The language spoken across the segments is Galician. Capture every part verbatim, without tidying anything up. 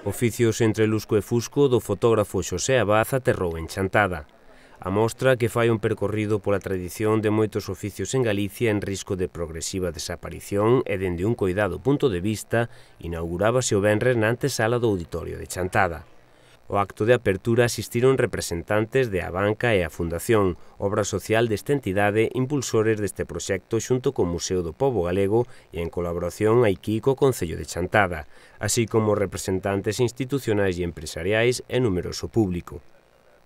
Oficios entre lusco e fusco do fotógrafo Xosé Abad aterrou en Chantada. A mostra, que fai un percorrido pola tradición de moitos oficios en Galicia en risco de progresiva desaparición e dende un coidado punto de vista, inaugurábase o venres na antesala do Auditorio de Chantada. O acto de apertura asistiron representantes de Abanca e a Fundación, obra social desta entidade, impulsores deste proxecto xunto co Museo do Pobo Galego e en colaboración aquí co Concello de Chantada, así como representantes institucionais e empresariais e numeroso público.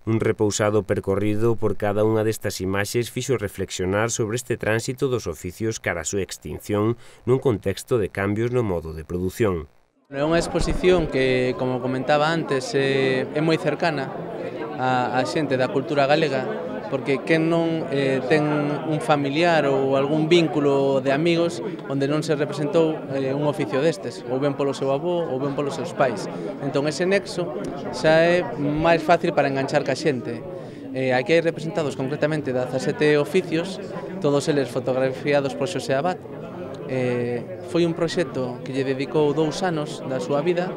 Un repousado percorrido por cada unha destas imaxes fixo reflexionar sobre este tránsito dos oficios cara a súa extinción nun contexto de cambios no modo de produción. É unha exposición que, como comentaba antes, é, é moi cercana á, á xente da cultura galega, porque quen non eh, ten un familiar ou algún vínculo de amigos onde non se representou eh, un oficio destes, ou ben polo seu avó ou ben polos seus pais. Entón ese nexo xa é máis fácil para enganchar ca xente. Eh, aquí hai representados concretamente dezasete oficios, todos eles fotografiados por Xosé Abad. Eh, foi un proxecto que lle dedicou dous anos da súa vida.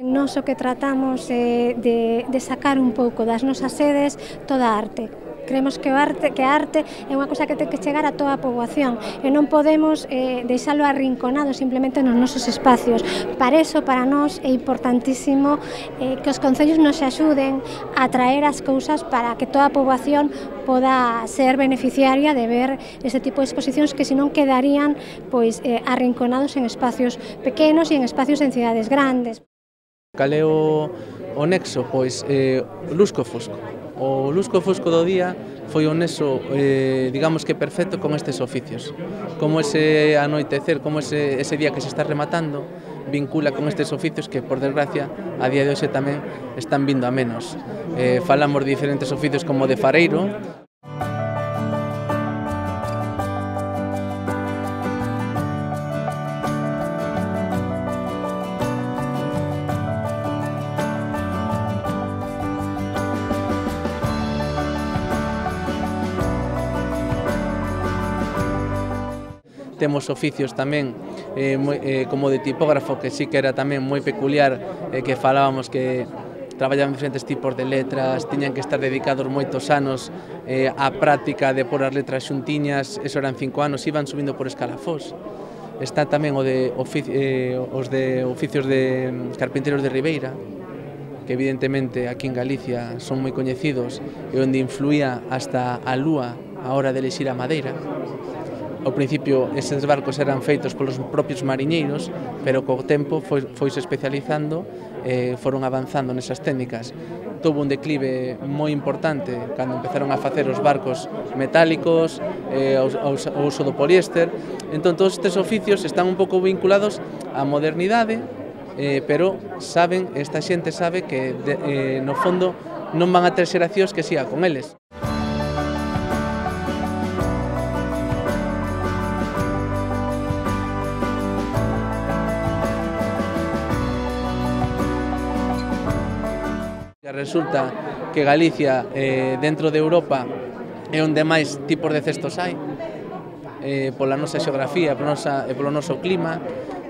Nós o que tratamos é de, de sacar un pouco das nosas sedes toda a arte. Creemos que, o arte, que a arte é unha cosa que ten que chegar a toda a poboación e non podemos eh, deixalo arrinconado simplemente nos nosos espacios. Para iso, para nós, é importantísimo eh, que os concellos nos axuden a traer as cousas para que toda a poboación poda ser beneficiaria de ver este tipo de exposicións que senón quedarían pois, eh, arrinconados en espacios pequenos e en espacios en cidades grandes. Cal é o, o nexo? Pois eh, lusco fusco. O lusco fusco do día foi o nexo, eh, digamos que perfecto con estes oficios. Como ese anoitecer, como ese, ese día que se está rematando, vincula con estes oficios que, por desgracia, a día de hoxe tamén están vindo a menos. Eh, falamos de diferentes oficios como de fareiro. Temos oficios tamén eh, moi, eh, como de tipógrafo, que sí que era tamén moi peculiar, eh, que falábamos que traballaban diferentes tipos de letras, tiñan que estar dedicados moitos anos eh, á práctica de pôr as letras xuntiñas, eso eran cinco anos, iban subindo por escalafós. Está tamén o de ofici eh, os de oficios de carpinteiros de Ribeira, que evidentemente aquí en Galicia son moi coñecidos e onde influía hasta a lúa a hora de elixir a madeira. Ao principio, eses barcos eran feitos polos propios mariñeiros, pero co tempo foi, foise especializando e foron avanzando nesas técnicas. Tuvo un declive moi importante cando empezaron a facer os barcos metálicos, eh, o uso do poliéster. Entón, todos estes oficios están un pouco vinculados á modernidade, eh, pero saben, esta xente sabe que, de, eh, no fondo, non van a ter xeracións que siga con eles. Resulta que Galicia, eh, dentro de Europa, é onde máis tipos de cestos hai, eh, pola nosa xeografía pola nosa, e polo noso clima.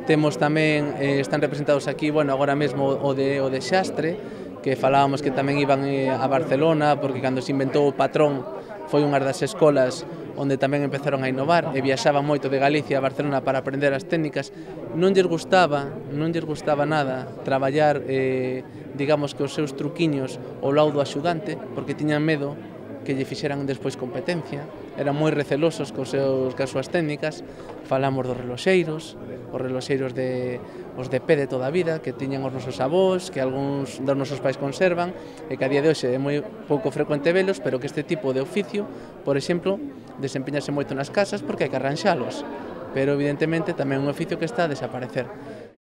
Temos tamén, eh, están representados aquí, bueno, agora mesmo o de, o de Xastre, que falábamos que tamén iban eh, a Barcelona, porque cando se inventou o patrón foi unha das escolas onde tamén empezaron a innovar e viaxaban moito de Galicia a Barcelona para aprender as técnicas. Non lles gustaba, non lles gustaba nada traballar, eh, digamos que os seus truquiños ao lado do axudante, porque tiñan medo que lle fixeran despois competencia, eran moi recelosos cos seus, cas súas técnicas. Falamos dos reloxeiros, os reloxeiros de, os de pé de toda a vida, que tiñan os nosos avós, que algúns dos nosos pais conservan, e que a día de hoxe é moi pouco frecuente velos, pero que este tipo de oficio, por exemplo, desempeñase moito nas casas porque hai que arranxalos, pero evidentemente tamén é un oficio que está a desaparecer.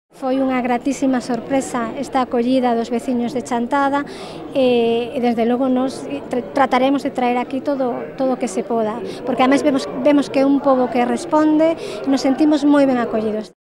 Foi unha gratísima sorpresa esta acollida dos veciños de Chantada e, e desde logo nos trataremos de traer aquí todo todo o que se poda, porque ademais vemos, vemos que é un pobo que responde e nos sentimos moi ben acollidos.